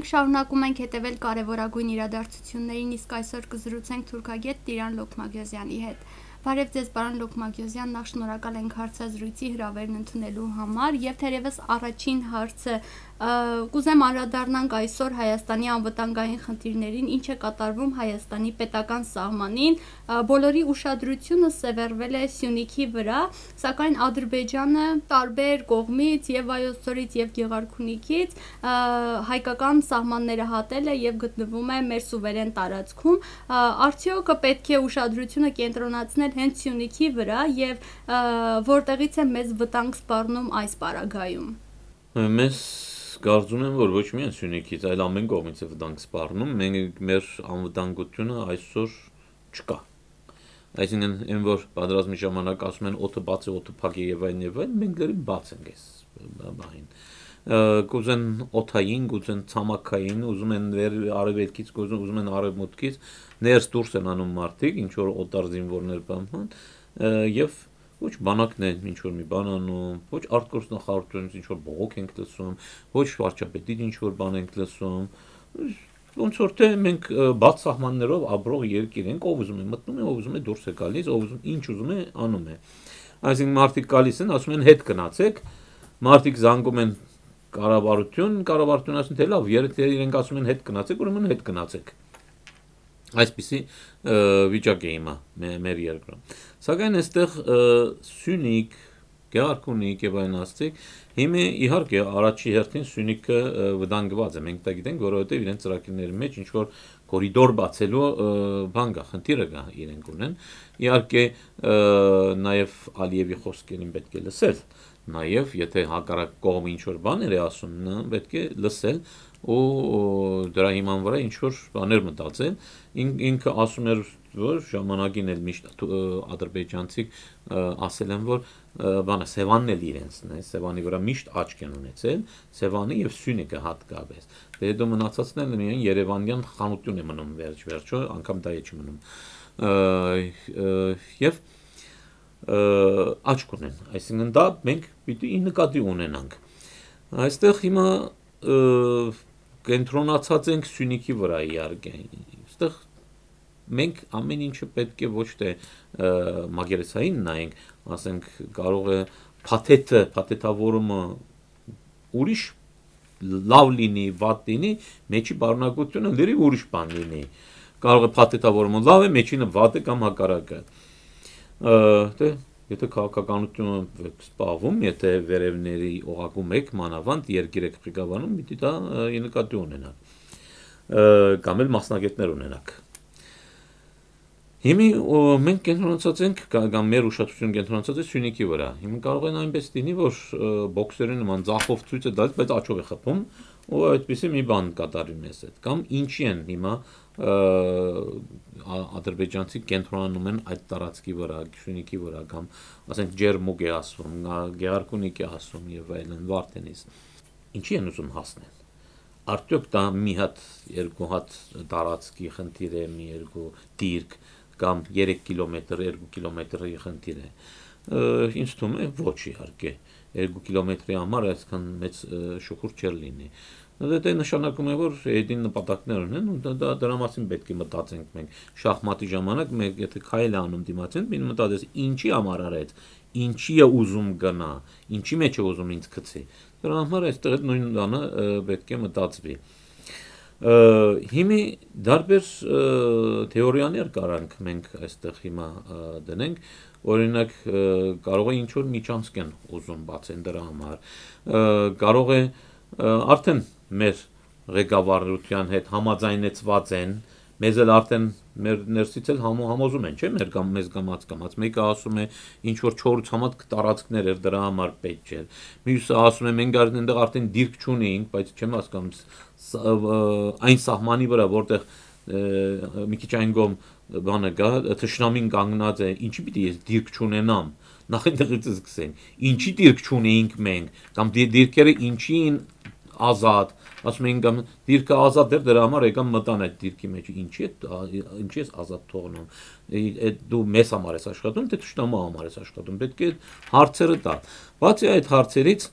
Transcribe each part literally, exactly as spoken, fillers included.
Մենք շարունակում ենք հետևել կարևորագույն իրադարձություններին, իսկ այսօր կզրուցենք թուրքագետ Տիրան Լոքմագյոզյանի հետ։ Բարև ձեզ, պարոն Լոքմագյոզյան, նախ շնորհակալ ենք հարցազրույցի հրավերն ընդունելու համար, եւ թերևս առաջին հարցը կուզեմ անդրադառնանք այսօր Հայաստանի անվտանգային խնդիրներին, ինչ է կատարվում Հայաստանի պետական սահմանին, բոլորի ուշադրությունը սևեռվել է Սյունիքի վրա, սակայն Ադրբեջանը տարբեր կողմից եւ Վայոց ձորից եւ Գեղարքունիքից հայկական սահմանները հատել է եւ գտնվում է մեր սուվերեն տարածքում, արդյոք պետք է ուշադրությունը կենտրոնացնել հենց Սյունիքի վրա եւ որտեղից է մեզ վտանգ սպառնում այս պարագայում։ Մեզ կարծում եմ, որ ոչ միայն Սյունիքից, այլ ամեն կողմից է վտանգ սպառնում, մենք մեր անվտանգությունը այսօր չկա։ Այսինքն, այն որ պատերազմի ժամանակ ասում են օդը բաց է, օդը փակ է եւ այլն եւ այլն, մենք դեռ բաց ենք այս բանին։ Կուզեն օդային, կուզեն ցամաքային, ուզում են վեր արևելքից, ուզում են արևմուտքից, ներս դուրս են անում մարդիկ, ինչ որ օտար զինվորներ բանան, եւ ոչ բանակն է ինչ որ մի բան անում, ոչ արտգործ նախարարությունից ինչ որ բողոք ենք լսում, ոչ վարչապետից ինչ որ բան ենք լսում, ոնց որ թե մենք բաց սահմաններով ապրող երկիր ենք, ով ուզում է մտնում է, ով ուզում է դուրս է գալիս, ով ուզում ինչ ուզում է անում է։ Այսինքն մարդիկ գալիս են, ասում են հետ գնացեք, մարդիկ զանգում են կառավարություն, կառավարությունը ասում թե լավ, եթե իրենք ասում են հետ գնացեք, ուրեմն հետ գնացեք։ Այսպիսի վիճակ է հիմա մեր երկրում։ Սակայն այստեղ Սյունիք, Գեղարքունիք եւ այլն ասցիք, հիմա իհարկե առաջի հերթին Սյունիքը վտանգված է։ Մենք դա գիտենք, որովհետեւ իրենց ծրագրերի մեջ ինչ որ կորիդոր բացելու բան կա, խնդիրը կա իրենք ունեն։ Իհարկե նաեւ Ալիևի խոսքերին պետք է լսել, նաեւ եթե հակառակ կողմը ինչ որ բաներ է ասում, պետք է լսել ու դրա հիման վրա ինչ որ բաներ մտածել։ Ինքը ասում էր, որ ժամանակին էլ միշտ ադրբեջանցիք ասել են, որ բանը Սևանն էլ իրենցն է, Սևանի վրա միշտ աչք են ունեցել, Սևանը եւ Սյունիքը հատկապես։ Դե դու մնացածն էլ միայն Երևանյան խանութուն է մնում վերջ-վերջո, անգամ դա է չմնում։ Եվ աչք ունեն, այսինքն դա մենք պիտի նկատի ունենանք։ Այստեղ հիմա կենտրոնացած ենք Սյունիքի վրա իհարկե։ Այստեղ մենք ամեն ինչը պետք է ոչ թե մագերեսային նայենք, ասենք կարող է փաթեթը, փաթեթավորումը ուրիշ լավ լինի, վատ լինի, մեջի բառնակությունը լրիվ ուրիշ բան լինի։ Կարող է փաթեթավորումը լավ է, մեջինը վատ է կամ հակառակը։ Դե եթե քաղաքականությունը սպառվում, եթե վերևների օղակում եք, մանավանդ երկիր եք ղեկավարում, պիտի դա նկատի ունենաք։ Կամ էլ մասնագետներ ունենաք։ Հիմա մենք կենտրոնացած ենք, կամ մեր ուշադրությունը կենտրոնացած է Սյունիքի վրա։ Հիմա կարող են այնպես լինի, որ բոքսերի նման ձախով ցույց է տալիս, բայց աչով է խփում, ու այդպեսի մի բան կատարի մեզ հետ։ Կամ ինչի են հիմա ադրբեջանցի կենտրոնանում են այդ տարածքի վրա, Սյունիքի վրա, կամ ասենք Ջերմուկ է ասում, Գեղարքունիք է ասում եւ այլն, Վարդենիս։ Ինչի են ուզում հասնել։ Արդյոք դա մի հատ, երկու հատ տարածքի խնդիր է, մի երկու դիրք կամ երեք կիլոմետր, երկու կիլոմետրի խնդիր է։ Ինձ թվում է ոչ իհարկե, երկու կիլոմետրի համար այսքան մեծ շուխուր չէր լինի։ Դա նշանակում է, որ հետին նպատակներ ունեն, ու դա դրա մասին պետք է մտածենք մենք։ Շախմատի ժամանակ մենք եթե քայլ անում դիմացին, մենք մտածես ինչի համար արեց, ինչի է ուզում գնա, ինչի մեջ է ուզում ինձ գցի։ Դրա համար այստեղ նույն բանը պետք է մտածվի։ Հիմա դարբեր թեորիաներ կարանք մենք այստեղ հիմա դնենք, օրինակ կարող է ինչ որ միջանցք են ուզում բացեն դրա համար, կարող է արդեն մեր ղեկավարության հետ համաձայնեցված են, մեզ էլ արդեն մեր ներսից էլ համոզում են, չէ՞, մեր կամ մեզ կամած կամած, մեկը ասում է ինչ որ չորից համատ տարածքներ էր դրա համար պետք չէ, մյուսը ասում է մենք այնտեղ արդեն դիրք չունեինք, բայց չեմ հասկանում այն սահմանի վրա, որտեղ մի քիչ այն կողմ բանը կա, թշնամին կանգնած է, ինչի պիտի ես դիրք չունենամ, նախ այնտեղից սկսենք, ինչի դիրք չունեինք մենք, կամ դիրքերը ինչին ազատ, ասում են կամ դիրքը ազատ էր, դրա համար եկան մտան այդ դիրքի մեջ, ինչի է, ինչի ես ազատ թողնում, դու մեզ համար ես աշխատում, թե թշնամու համար ես աշխատում, պետք է հարցերը տալ։ Բացի այդ հարցերից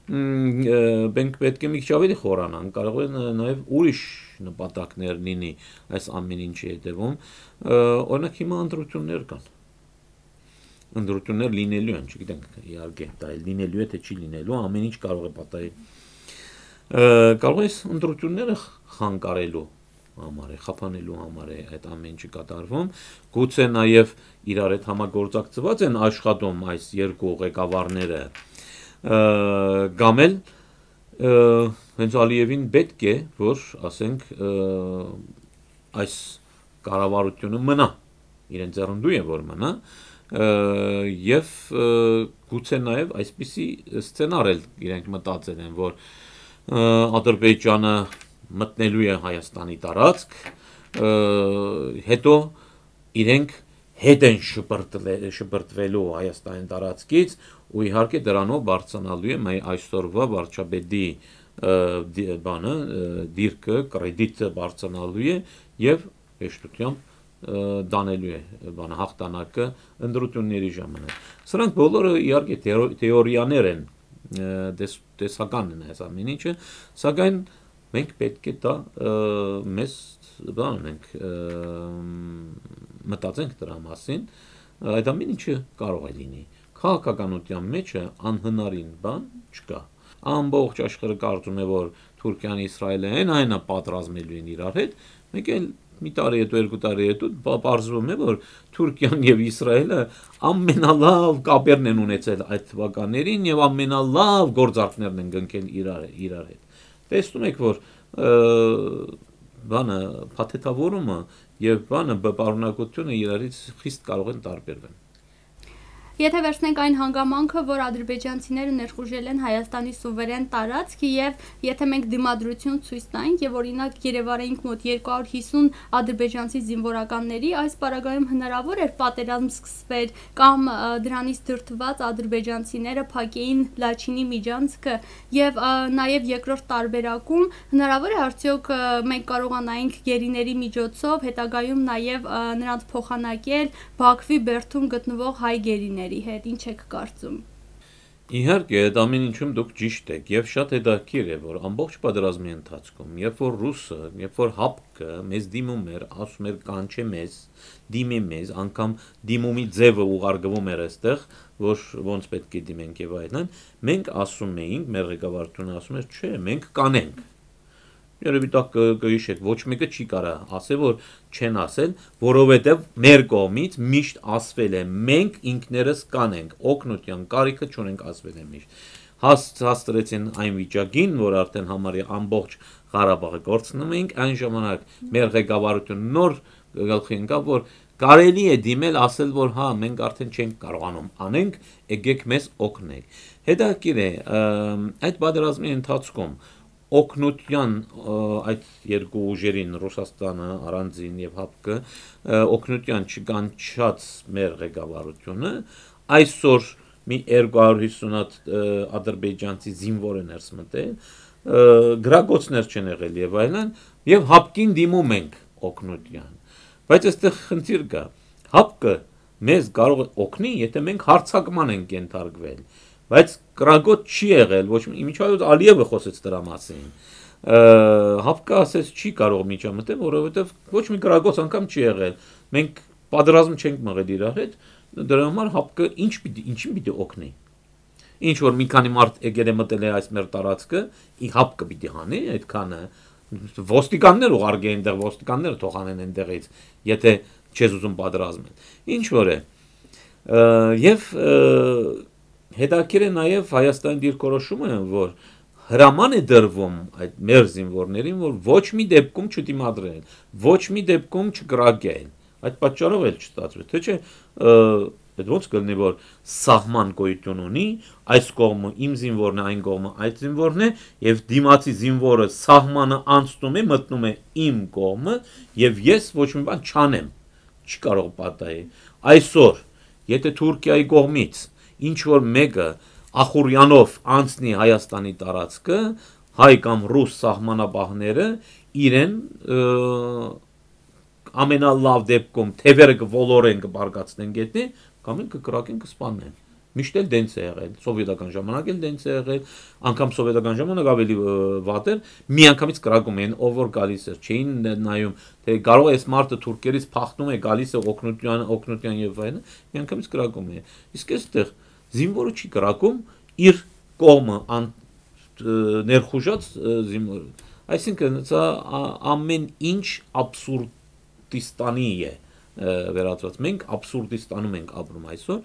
մենք պետք է մի քիչ ավելի խորանանք, կարող է նաև ուրիշ նպատակներ լինի այս ամեն ինչի հետևում, օրինակ հիմա ընտրություններ կան, ընտրություններ լինելու են, չգիտենք իհարկե դա լինելու է թե չի լինելու, ամեն ինչ կարող է պատահի, կարող է ընտրությունները խանգարելու համար է, խափանելու համար է այդ ամեն ինչը կատարվում, գուցե նաև իրար հետ համագործակցված են աշխատում այս երկու ղեկավարները, կամ էլ հենց Ալիևին պետք է, որ ասենք այս կառավարությունը մնա, իրեն ձեռնդու է որ մնա, եւ գուցե նաև այսպիսի սցենար էլ իրենք մտածել են, որ Ադրբեջանը մտնելու է Հայաստանի տարածք, հետո իրենք հետ են շպրտվելու Հայաստանի տարածքից ու իհարկե դրանով բարձրանալու է այսօրվա վարչապետի բանը, դիրքը, կրեդիտը բարձրանալու է եւ հեշտությամբ դանելու է բանը հաղթանակը ընտրությունների ժամանակ։ Սրանք բոլորը իհարկե թեորիաներ են, տեսական են այս ամեն ինչը, սակայն մենք պետք է դա մեզ բան ենք մտածենք դրա մասին, այդ ամեն ինչը կարող է լինի։ Քաղաքականության մեջը անհնարին բան չկա։ Ամբողջ աշխարհը կարծում է, որ Թուրքիան, Իսրայելը են այնա պատրաստելու են իրար հետ, մեկ էլ մի տարի հետո, երկու տարի հետո պարզվում է, որ Թուրքիան եւ Իսրայելը ամենալավ կապերն են ունեցել այդ թվականներին եւ ամենալավ գործարքներն են գնքել իրար իրար հետ։ Տեսնում եք, որ բանը փաթեթավորումը եւ բանը բպարունակությունը իրարից խիստ կարող են տարբերվել։ Եթե վերցնենք այն հանգամանքը, որ ադրբեջանցիները ներխուժել են Հայաստանի սուվերեն տարածք եւ եթե մենք դիմադրություն ցույց տանք եւ օրինակ երևարեինք մոտ երկու հարյուր հիսուն ադրբեջանցի զինվորականների, այս պարագայում հնարավոր էր պատերազմ սկսվեր կամ դրանից դրդված ադրբեջանցիները փակեին Լաչինի միջանցքը եւ նաեւ երկրորդ տարբերակում հնարավոր է արդյոք մենք կարողանայինք գերիների միջոցով հետագայում նաեւ նրանց փոխանակել Բաքվի բերդում գտնվող հայ գերիներ հետ, ինչ եք կարծում։ Իհարկե, այդ ամեն ինչում դուք ճիշտ եք եւ շատ հետաքրքիր է, որ ամբողջ պատերազմի ընթացքում, երբ որ ռուսը, երբ որ հապկը մեզ դիմում էր, ասում էր կանչե մեզ, դիմի մեզ, անգամ դիմումի ձևը ուղարկվում էր այստեղ, որ ոնց պետք է դիմենք եւ այլն, մենք ասում էինք, մեր ղեկավարությունը ասում էր, չէ, մենք կանենք։ Երևի դա կհիշեք, ոչ մեկը չի կարող ասել, որ չեն ասել, որովհետև մեր կողմից միշտ ասվել է, մենք ինքներս կանենք, օգնության կարիքը չունենք ասվել է միշտ։ Հաստրեցին այն վիճակին, որ արդեն համարյա ամբողջ Ղարաբաղը կորցնում էինք, այն ժամանակ մեր ղեկավարությունը նոր գլխի ընկավ, որ կարելի է դիմել ասել, որ հա, մենք արդեն չենք կարողանում անենք, եկեք մեզ օգնեք։ Հետաքրքիր է, այդ պատերազմի ընթացքում օգնության այդ երկու ուժերին Ռուսաստանը, առանձին եւ հապկը օգնության չկանչած մեր ղեկավարությունը այսօր մի երկու հարյուր հիսուն հատ ադրբեջանցի զինվոր են ներս մտել, գրագոցներ չեն եղել եւ այլն, եւ հապկին դիմում ենք օգնության։ Բայց այստեղ խնդիր կա։ Հապկը մեզ կարող է օգնի, եթե մենք հարձակման ենք ենթարկվել։ Բայց գրագոց չի եղել, ոչ միջայլոց Ալիևը խոսեց դրա մասին։ Հապկը ասեց չի կարող միջամտել, որովհետև ոչ մի գրագոց անգամ չի եղել։ Մենք պատերազմ չենք մղել իրար հետ, դրա համար հապկը ինչ պիտի ինչին պիտի օգնի։ Ինչ որ մի քանի մարդ եկել է մտել է այս մեր տարածքը, ի հապկը պիտի հանի այդքանը ոստիկաններ ուղարկեն այնտեղ, ոստիկանները թող անեն այնտեղից, եթե չես ուզում պատերազմել։ Ինչ որ է։ Եվ հետաքրքիր է նաև Հայաստանի դիրքորոշումը, որ հրաման է դրվում այդ մեր զինվորներին, որ ոչ մի դեպքում չդիմադրել, ոչ մի դեպքում չկրակել։ Այդ պատճառով էլ չստացվեց, թե չէ, այդ ոնց կլինի, որ սահման գոյություն ունի, այս կողմը իմ զինվորն է, այն կողմը այդ զինվորն է, եւ դիմացի զինվորը սահմանը անցնում է, մտնում է իմ կողմը, եւ ես ոչ մի բան չանեմ, չի կարող պատահի։ Այսօր, եթե Թուրքիայի կողմից ինչ որ մեկը Ախուրյանով անցնի Հայաստանի տարածքը, հայ կամ ռուս սահմանապահները իրեն ամենալավ դեպքում թևերը կոլորեն կբարգացնեն գետնի, կամ են կկրակեն կսպանեն։ Միշտ էլ դենց է եղել, սովետական ժամանակ էլ դենց է եղել, անգամ սովետական ժամանակ ավելի վատ էր, մի անգամից կրակում էին, ով որ գալիս էր, չէին նայում, թե կարող է այս մարդը թուրքերից փախնում է, գալիս է օգնության, օգնության եւ այլն, մի անգամից կրակում էին։ Իսկ այստեղ զինվորը չի կրակում, իր կողմը ներխուժած զինվորը։ Այսինքն սա ամեն ինչ աբսուրդիստանի է վերածված։ Մենք աբսուրդիստանում ենք ապրում այսօր,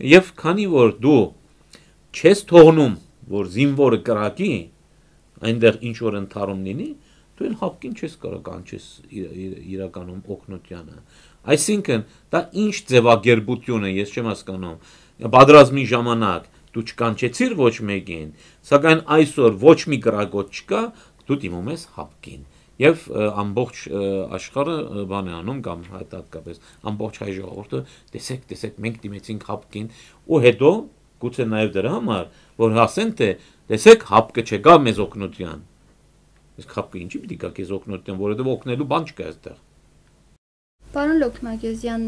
եւ քանի որ դու չես թողնում, որ զինվորը կրակի, այնտեղ ինչ որ ընթառում լինի, դու էլ հապկին չես կարող կանչես իրականում օգնությանը։ Այսինքն դա ինչ ձևակերպություն է, ես չեմ հասկանում։ Պատերազմի ժամանակ դու չկանչեցիր ոչ մեկին, սակայն այսօր ոչ մի կրակոտ չկա, դու դիմում ես հապկին։ Եվ ամբողջ աշխարհը բան է անում կամ հատկապես ամբողջ հայ ժողովուրդը տեսեք, տեսեք, մենք դիմեցինք հապկին, ու հետո գուցե նաև դրա համար, որ հասեն թե տեսեք հապկը չեկավ մեզ օգնության։ Իսկ հապկը ինչի՞ պիտի գա քեզ օգնության, որովհետև օգնելու բան չկա այստեղ։ Պարոն Լոքմագյուզյան,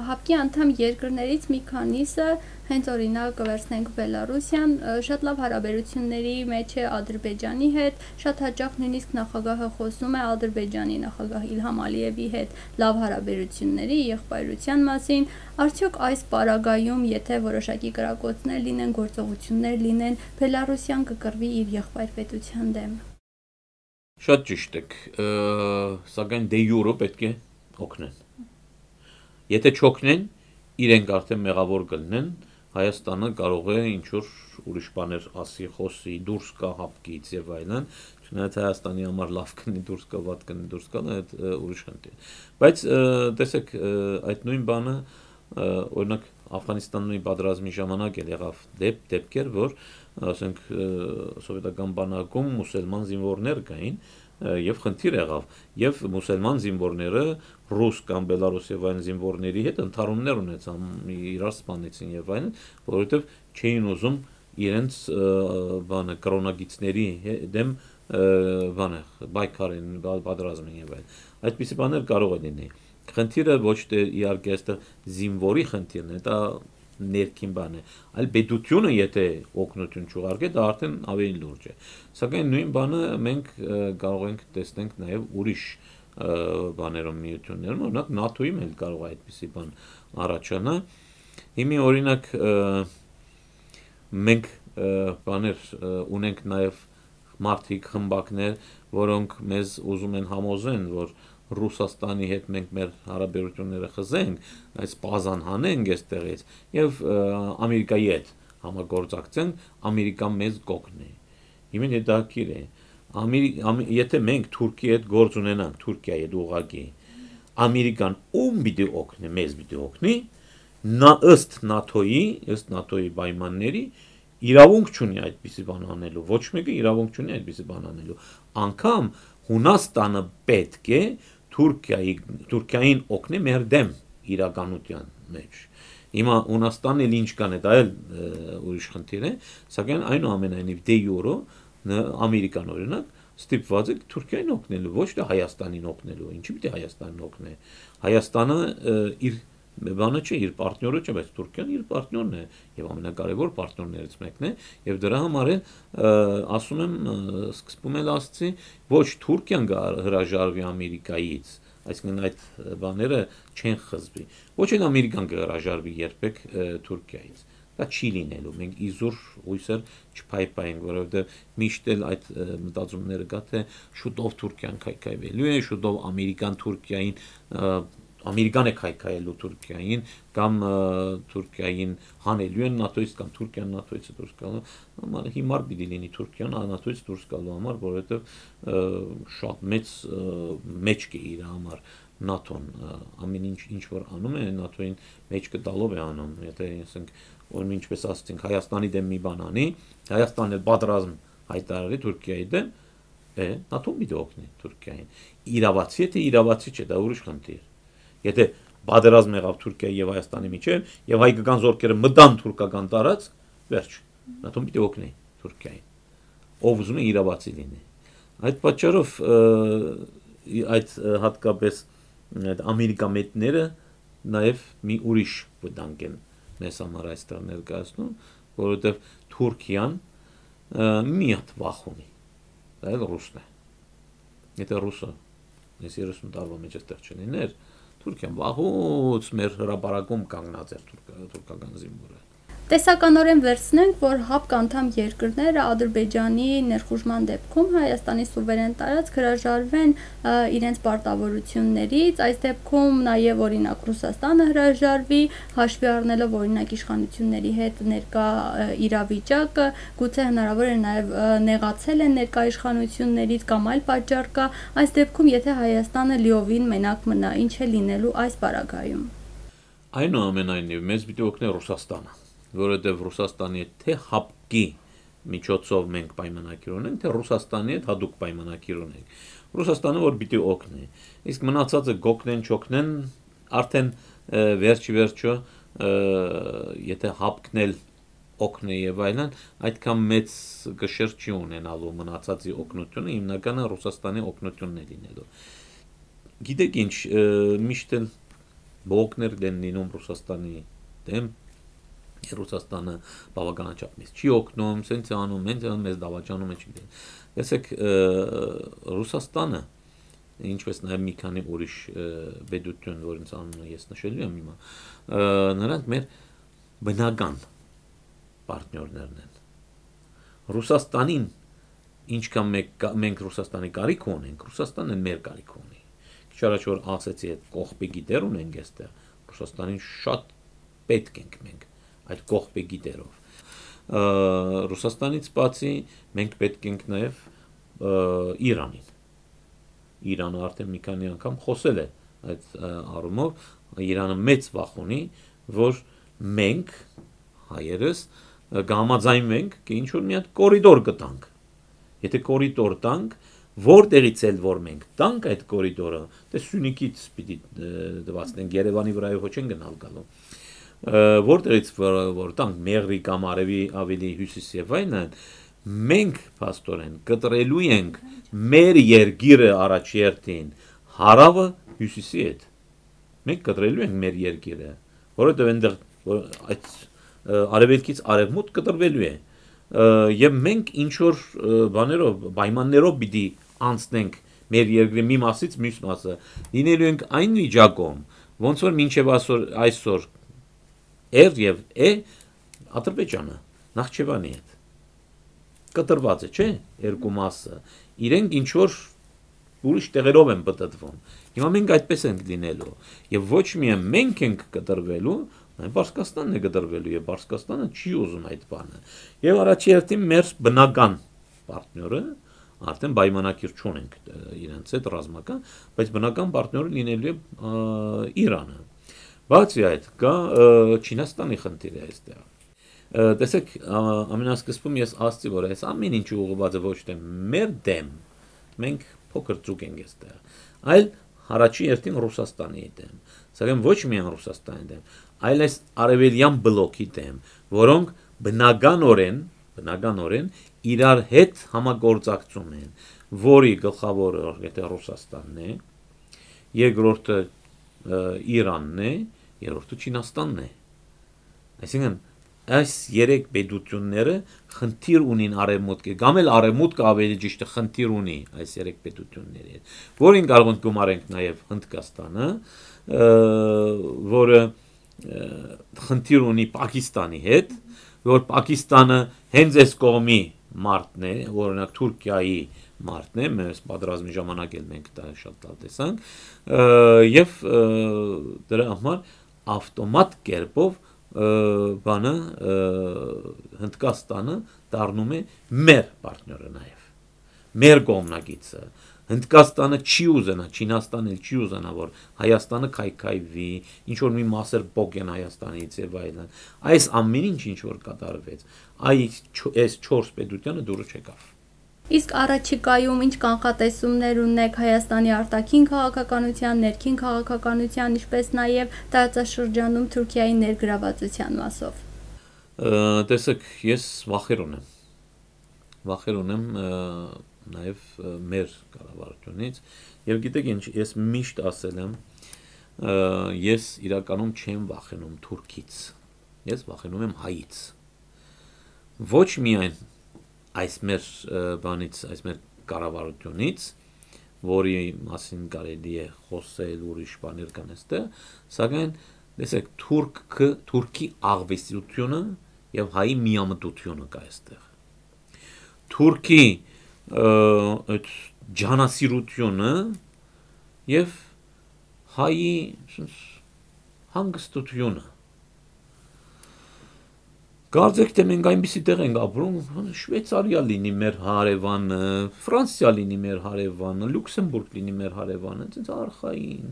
հապկի անդամ երկրներից մի քանիսը, հենց օրինակ կվերցնենք Բելարուսիան, շատ լավ հարաբերությունների մեջ է Ադրբեջանի հետ, շատ հաճախ նույնիսկ նախագահը խոսում է Ադրբեջանի նախագահ Իլհամ Ալիևի հետ լավ հարաբերությունների, եղբայրության մասին, արդյոք այս պարագայում, եթե որոշակի կրակոցներ լինեն, գործողություններ լինեն, Բելարուսիան կկռվի իր եղբայր պետության դեմ։ Շատ ճիշտ եք, սակայն դե յուրո պետք է օգնեն։ Եթե չօգնեն, իրենք արդեն մեղավոր կլինեն, Հայաստանը կարող է ինչ-որ ուրիշ բաներ ասի, խոսի, դուրս գա հապկից եւ այլն, չնայած Հայաստանի համար լավ կնի դուրս գա, վատ կնի դուրս գա, այդ ուրիշ խնդիր։ Բայց տեսեք, այդ նույն բանը, օրինակ Աֆղանստանի պատերազմի ժամանակ էլ եղավ դեպ դեպքեր, որ ասենք սովետական բանակում մուսուլման զինվորներ կային, եւ խնդիր եղավ, եւ մուսուլման զինվորները ռուս կամ բելարուս եւ այլ զինվորների հետ ընդհարումներ ունեցան, իրար սպանեցին եւ այլն, որովհետեւ չէին ուզում իրենց բանը կրոնագիցների դեմ բանը բայկարեն պատերազմին եւ այլն։ Այդպիսի բաներ կարող է լինել։ Խնդիրը ոչ թե իհարկե այստեղ զինվորի խնդիրն է, դա ներքին բան է, այլ պետությունը եթե օգնություն չուղարկի, դա արդեն ավելի լուրջ է։ Սակայն նույն բանը մենք կարող ենք տեսնենք նաև ուրիշ բաներում միություններում, օրինակ նատոյում էլ կարող է այդպիսի բան առաջանա։ Հիմի օրինակ մենք բաներ ունենք նաև մարդիկ խմբակներ, որոնք մեզ ուզում են համոզեն, որ Ռուսաստանի հետ մենք մեր հարաբերությունները խզենք, այս բազան հանենք այստեղից եւ Ամերիկայի հետ համագործակցենք, Ամերիկան մեզ կօգնի։ Հիմա հետաքրքիր է, եթե մենք Թուրքիայի հետ գործ ունենանք, Թուրքիայի հետ ուղղակի, Ամերիկան ում պիտի օգնի, մեզ պիտի օգնի, նա ըստ նատոյի, ըստ նատոյի պայմանների իրավունք չունի այդպիսի բան անելու, ոչ մեկը իրավունք չունի այդպիսի բան անելու, անգամ Հունաստանը պետք է Թուրքիայի Թուրքիային օգնի մեր դեմ իրականության մեջ։ Հիմա Հունաստանն էլ ինչ կան է, դա էլ ուրիշ խնդիր է, սակայն այնուամենայնիվ դե յուրո Ամերիկան օրինակ ստիպված է Թուրքիային օգնելու, ոչ թե Հայաստանին օգնելու, ինչի՞ պիտի Հայաստանին օգնի։ Հայաստանը իր բանը չէ, իր պարտները չէ, բայց Թուրքիան իր պարտներն է եւ ամենակարևոր պարտներներից մեկն է եւ դրա համար էլ ասում եմ սկզբում էլ ասացի, ոչ Թուրքիան հրաժարվի Ամերիկայից, այսինքն այդ բաները չեն խզվի, ոչ էլ Ամերիկան կհրաժարվի երբեք Թուրքիայից։ Դա չի լինելու, մենք իզուր հույսեր չփայփայենք, որովհետեւ միշտ էլ այդ մտածումները կա, թե շուտով Թուրքիան քայքայվելու է, շուտով Ամերիկան Թուրքիային Ամերիկան է քայքայելու Թուրքիային կամ Թուրքիային հանելու են նատոյից կամ Թուրքիան նատոյից դուրս գալու համար հիմար պիտի լինի Թուրքիան նատոյից դուրս գալու համար, որովհետև շատ մեծ մեջք է իր համար նատոն ամեն ինչ ինչ որ անում է նատոյին մեջքը տալով է անում, եթե ասենք որ ինչպես ասացինք Հայաստանի դեմ մի բան անի, Հայաստանն էլ պատերազմ հայտարարի Թուրքիայի դեմ, է նատոն պիտի օգնի Թուրքիային։ Իրավացի է թե իրավացի չէ, դա ուրիշ խնդիր։ Եթե պատերազմ եղավ Թուրքիայի եւ Հայաստանի միջեւ եւ հայկական զորքերը մտան թուրքական տարածք, վերջ, նատոն պիտի օգնի Թուրքիային։ Ով ուզում է իրավացի լինի։ Այդ պատճառով այդ հատկապես այդ ամերիկամետները նաեւ մի ուրիշ վտանգ են մեզ համար այստեղ ներկայացնում, որովհետև Թուրքիան մի հատ վախ ունի, դա էլ ռուսն է։ Եթե ռուսը ես երեսուն տարվա մեջ այստեղ չլիներ, Թուրքիան վաղուց մեր հրապարակում կանգնած էր թուրքական զինվորը։ Տեսականորեն վերցնենք, որ ՀԱՊԿ անդամ երկրները Ադրբեջանի ներխուժման դեպքում Հայաստանի սուվերեն տարածք հրաժարվեն իրենց պարտավորություններից, այս դեպքում նաև օրինակ Ռուսաստանը հրաժարվի, հաշվի առնելով օրինակ իշխանությունների հետ ներկա իրավիճակը, գուցե հնարավոր է նաև նեղացել են ներկա իշխանություններից կամ այլ պատճառ կա, այս դեպքում եթե Հայաստանը լիովին մենակ մնա, ինչ է լինելու այս պարագայում։ Այնուամենայնիվ մեզ պիտի օգնի Ռուսաստանը, որովհետև Ռուսաստանի հետ թե ՀԱՊԿ-ի միջոցով մենք պայմանագիր ունենք, թե Ռուսաստանի հետ հատուկ պայմանագիր ունենք։ Ռուսաստանը որ պիտի օգնի, իսկ մնացածը գոկնեն, չոկնեն, արդեն վերջի վերջո, եթե ՀԱՊԿ-ն էլ օգնի եւ այլն, այդքան մեծ գշեր չի ունենալու մնացածի օգնությունը, հիմնականը Ռուսաստանի օգնությունն է լինելու։ Գիտեք ինչ, միշտ էլ բողոքներ են լինում Ռուսաստանի դեմ, Ռուսաստանը բավականաչափ մեզ չի օգնում, սենց է անում, մենք մեզ դավաճանում է չի։ Տեսեք, Ռուսաստանը, ինչպես նաև մի քանի ուրիշ պետություն, որոնց անունը ես նշելու եմ հիմա, նրանք մեր բնական պարտներներն են։ Ռուսաստանին ինչքան մենք Ռուսաստանի կարիք ունենք, Ռուսաստանը մեր կարիք ունի։ Քիչ առաջ որ ասեցի, այդ կողպեգի դեր ունենք այստեղ, Ռուսաստանին շատ պետք ենք մենք այդ կողպեգի դերով։ Ռուսաստանից բացի մենք պետք ենք նաև Իրանին։ Իրանը արդեն մի քանի անգամ խոսել է այդ առումով, Իրանը մեծ վախ ունի, որ մենք հայերս կհամաձայնվենք, թե ինչ որ մի հատ կորիդոր կտանք։ Եթե կորիդոր տանք, որտեղից էլ որ մենք տանք այդ կորիդորը, դե Սյունիքից պիտի դվածնենք, Երևանի վրայով ոչ են գնալ գալու։ Որտեղից որ տանք Մեղրի կամ Արևի ավելի հյուսիս եւ այլն, մենք փաստորեն կտրելու ենք մեր երկիրը առաջերտին հարավը հյուսիսի հետ։ Մենք կտրելու ենք մեր երկիրը, որովհետեւ այնտեղ այդ արևելքից արևմուտք կտրվելու է։ Եվ մենք ինչ որ բաներով, պայմաններով պիտի անցնենք մեր երկրի մի մասից մյուս մասը, լինելու ենք այն վիճակում, ոնց որ մինչև այսօր էր եւ է Ադրբեջանը Նախճեվանի հետ կտրված է, չէ՞, երկու մասը։ Իրենք ինչ որ ուրիշ տեղերով են պատտվում։ Հիմա մենք այդպես ենք լինելու եւ ոչ միայն մենք ենք կտրվելու, այլ Պարսկաստանն է կտրվելու եւ Պարսկաստանը չի ուզում այդ բանը։ Եվ առաջերտին մեր բնական պարտները արդեն պայմանագիր չունենք իրենց հետ ռազմական, բայց բնական պարտները լինելու է Իրանը։ Բացի այդ, կա Չինաստանի խնդիրը այստեղ։ Տեսեք, ամենասկզբում ես ասացի, որ այս ամեն ինչը ուղղված է ոչ թե մեր դեմ, մենք փոքր ծուկ ենք այստեղ, այլ առաջի երթին Ռուսաստանի դեմ, սակայն ոչ միայն Ռուսաստանի դեմ, այլ այս արևելյան բլոկի դեմ, որոնք բնականորեն, բնականորեն իրար հետ համագործակցում են, որի գլխավորը եթե Ռուսաստանն է, երկրորդը Իրանն է, երրորդը Չինաստանն է։ Այսինքն այս երեք պետությունները խնդիր ունին արևմուտքի, կամ էլ արևմուտքը ավելի ճիշտ է խնդիր ունի այս երեք պետությունների հետ, որին կարող ենք գումարենք նաև Հնդկաստանը, որը խնդիր ունի Պակիստանի հետ, որ Պակիստանը հենց այս կողմի մարտն է, օրինակ Թուրքիայի մարտն է, mēs պատրաստի ժամանակ էլ մենք դա շատ լավ տեսանք, եւ դրա համար ավտոմատ կերպով բանը Հնդկաստանը դառնում է մեր պարտները նաև, մեր կողմնակիցը։ Հնդկաստանը չի ուզենա, Չինաստանը չի ուզենա, որ Հայաստանը քայքայվի, ինչ որ մի մասեր փոկեն Հայաստանից եւ այլն։ Այս ամեն ինչ ինչ որ կատարվեց, այս չորս պետությանը դուրը չեկավ։ Իսկ առաջիկայում ինչ կանխատեսումներ ունեք Հայաստանի արտաքին քաղաքականության, ներքին քաղաքականության, ինչպես նաև տարածաշրջանում Թուրքիայի ներգրավվածության մասով։ Տեսեք, ես վախեր ունեմ։ Վախեր ունեմ նաև մեր կառավարությունից եւ գիտեք ինչ, ես միշտ ասել եմ, ես իրականում չեմ վախենում Թուրքից։ ես վախենում եմ հայից։ Ոչ միայն այս մեր բանից, այս մեր կառավարությունից, որի մասին կարելի է խոսել, ուրիշ բաներ կան այստեղ, սակայն տեսեք, թուրքը, թուրքի աղվեսությունը եւ հայի միամտությունը կա այստեղ։ Թուրքի այդ ջանասիրությունը եւ հայի հանգստությունը։ Կարծեք թե մենք այնպիսի տեղ ենք ապրում, Շվեյցարիա լինի մեր հարևանը, Ֆրանսիա լինի մեր հարևանը, Լյուքսեմբուրգ լինի մեր հարևանը, այնպես արխային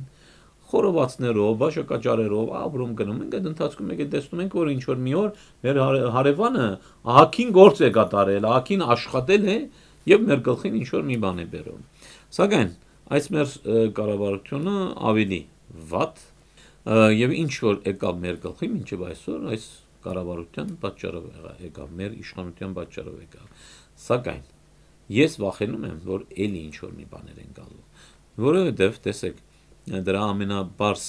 խորովածներով, բաշակաճարերով ապրում գնում ենք, այդ ընթացքում եկել տեսնում ենք, որ ինչ որ մի օր մեր հարևանը ահագին գործ է կատարել, ահագին աշխատել է եւ մեր գլխին ինչ որ մի բան է բերում։ Սակայն այս մեր կառավարությունը ավելի վատ եւ ինչ որ եկավ մեր գլխին մինչեւ այսօր այս կառավարության պատճառով եկավ, մեր իշխանության պատճառով եկավ։ Սակայն ես վախենում եմ, որ էլի ինչ որ մի բաներ են գալու, որովհետեւ տեսեք, դրա ամենաբարձ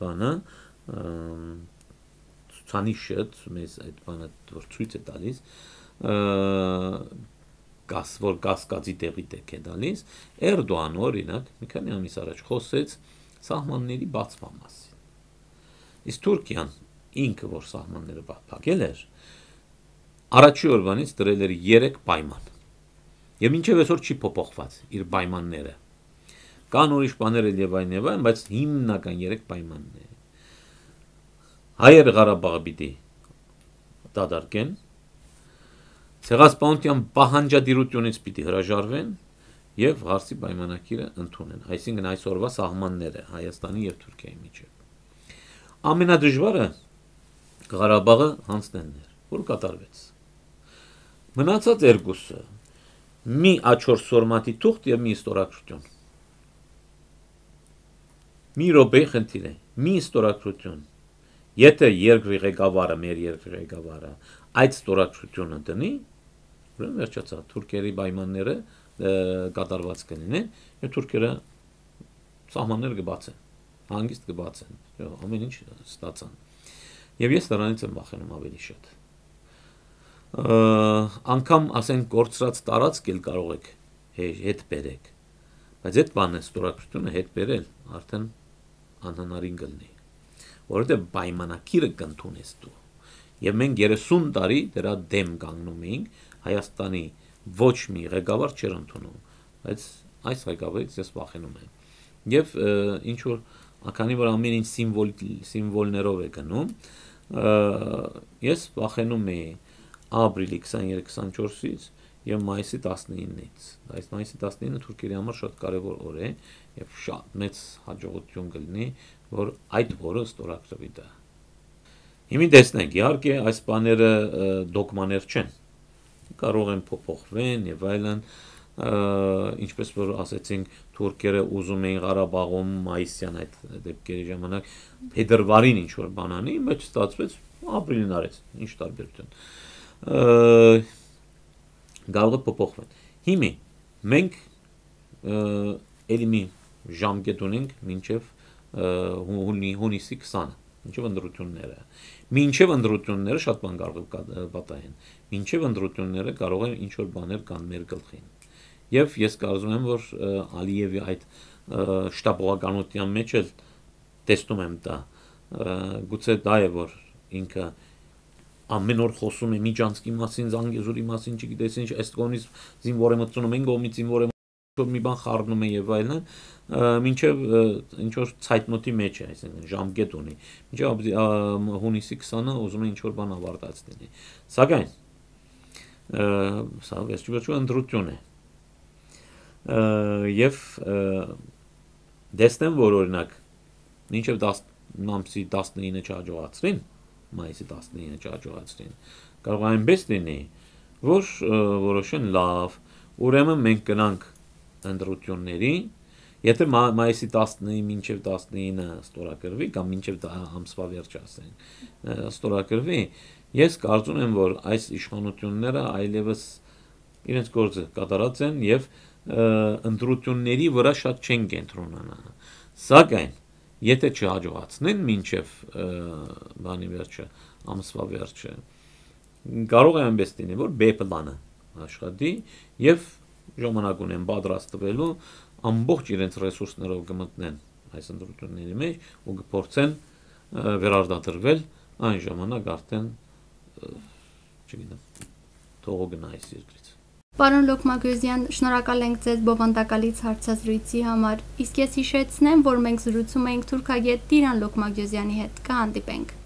բանը ցուցանիշը մեզ այդ բանը որ ցույց է տալիս, գաս որ կասկածի տեղի տեք է տալիս, Էրդողանը օրինակ մի քանի ամիս առաջ խոսեց սահմանների բացման մասին։ Իսկ Թուրքիան ինքը որ սահմանները փակել էր, առաջի օրվանից դրել էր երեք պայման։ Եվ մինչև այսօր չի փոփոխված իր պայմանները։ Կան ուրիշ բաներ էլ եւ այն եւ այն, բայց հիմնական երեք պայմանն է։ Հայերը Ղարաբաղը պիտի դադարեն, ցեղասպանության պահանջադիրությունից պիտի հրաժարվեն եւ հարցի պայմանագիրը ընդունեն, այսինքն այսօրվա սահմանները Հայաստանի եւ Թուրքիայի միջեւ։ Ամենադժվարը Ղարաբաղը հանձնելն էր, որ կատարվեց։ Մնացած երկուսը՝ մի աչոր սորմատի թուղթ եւ մի ստորագրություն։ Մի րոպե խնդիր է, մի ստորագրություն։ Եթե երկրի ղեկավարը, մեր երկրի ղեկավարը այդ ստորագրությունը դնի, ուրեմն վերջացավ, թուրքերի պայմանները կատարված կլինեն, եւ թուրքերը սահմաններ կբացեն, հանգիստ կբացեն, ամեն ինչ ստացան։ Եվ ես դրանից եմ վախենում ավելի շատ։ Անկամ ասենք կորցրած տարածք էլ կարող եք հետ բերեք, բայց այդ բանը ստորագրությունը հետ բերել արդեն անհնարին կլինի, որովհետեւ պայմանագիրը կընդունես դու։ Եվ մենք երեսուն տարի դրա դեմ կանգնում էինք, Հայաստանի ոչ մի ղեկավար չէր ընդունում, բայց այս ղեկավարից ես վախենում եմ։ Եվ ինչ որ քանի որ ամեն ինչ սիմվոլ սիմվոլներով է գնում, ես վախենում եմ ապրիլի քսաներեք քսանչորսից եւ մայիսի տասնինից։ Այս մայիսի տասնինը թուրքերի համար շատ կարեւոր օր է եւ շատ մեծ հաջողություն կլինի, որ այդ օրը ստորագրվի դա։ Հիմա տեսնենք, իհարկե այս բաները դոգմաներ չեն։ Կարող են փոփոխվեն եւ այլն, ինչպես որ ասեցինք, թուրքերը ուզում էին Ղարաբաղում մայիսյան այդ դեպքերի ժամանակ փետրվարին ինչ որ բան անի, բայց ստացվեց ապրիլին արեց, ինչ տարբերություն։ Կարող է փոփոխվեն։ Հիմա մենք էլի մի ժամկետ ունենք մինչև հունիսի քսանը, մինչև ընտրությունները։ Մինչև ընտրությունները շատ բան կարող է պատահեն։ Մինչև ընտրությունները կարող են ինչ որ բաներ կան մեր գլխին։ Եվ ես կարծում եմ, որ Ալիևի այդ շտապողականության մեջ էլ տեսնում եմ դա։ Գուցե դա է, որ ինքը ամեն օր խոսում է Միջանցքի մասին, Զանգեզուրի մասին, չգիտես ինչ, այս կողմից զինվոր է մտցնում, այն կողմից զինվոր է մտցնում, մի բան խառնում է եւ այլն, մինչեւ ինչ որ ցայտնոտի մեջ է, այսինքն ժամկետ ունի։ Մինչեւ հունիսի քսանը ուզում է ինչ որ բան ավարտած լինի։ Սակայն սա վերջիվերջո ընտրություն է։ Եվ դեսնեմ, որ օրինակ մինչև ամսի տասնինը չհաջողացրին, մայիսի տասնինը չհաջողացրին, կարող է այնպես լինի, որ որոշեն լավ, ուրեմն մենք գնանք ընտրությունների, եթե մայիսի տասնինը մինչև տասնինը ստորագրվի կամ մինչև ամսվա վերջ ասենք, ստորագրվի, ես կարծում եմ, որ այս իշխանությունները այլևս իրենց գործը կատարած են եւ ընտրությունների վրա շատ չեն կենտրոնանա։ Սակայն եթե չհաջողացնեն մինչև բանի վերջը ամսվա վերջը։ Կարող է այնպես լինի, որ B պլանը աշխատի եւ ժամանակ ունեն պատրաստվելու ամբողջ իրենց ռեսուրսներով կմտնեն այս ընտրությունների մեջ ու կփորձեն վերարտադրվել այն ժամանակ արդեն չգիտեմ թողո գնայ այս երկրից։ Պարոն Լոկմագոզյան, շնորհակալ ենք ձեզ բովանդակալից հարցազրույցի համար։ Իսկ ես հիշեցնեմ, որ մենք զրուցում էինք թուրքագետ Տիրան Լոկմագոզյանի հետ։ Կհանդիպենք։